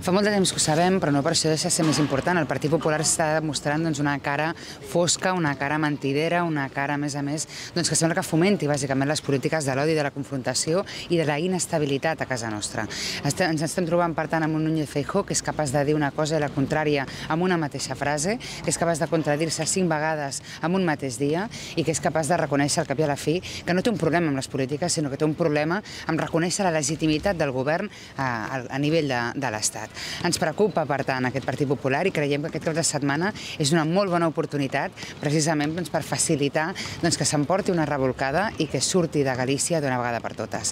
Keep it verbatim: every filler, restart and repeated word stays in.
Fa molt de temps que ho sabem, però no per això deixa de ser més important. El Partit Popular està demostrant doncs, una cara fosca, una cara mentidera, una cara, a més a més, doncs, que sembla que fomenti bàsicament les polítiques de l'odi, de la confrontació i de la inestabilitat a casa nostra. Estem, ens estem trobant, per tant, amb un Núñez Feijóo que és capaç de dir una cosa i la contrària amb una mateixa frase, que és capaç de contradir-se cinc vegades en un mateix dia i que és capaç de reconèixer al cap i a la fi que no té un problema amb les polítiques, sinó que té un problema amb reconèixer la legitimitat del govern a, a nivell de, de l'Estat. Ens preocupa, per tant, aquest Partit Popular i creiem que aquest cap de setmana és una molt bona oportunitat precisament per facilitar que s'emporti una revolcada i que surti de Galícia d'una vegada per totes.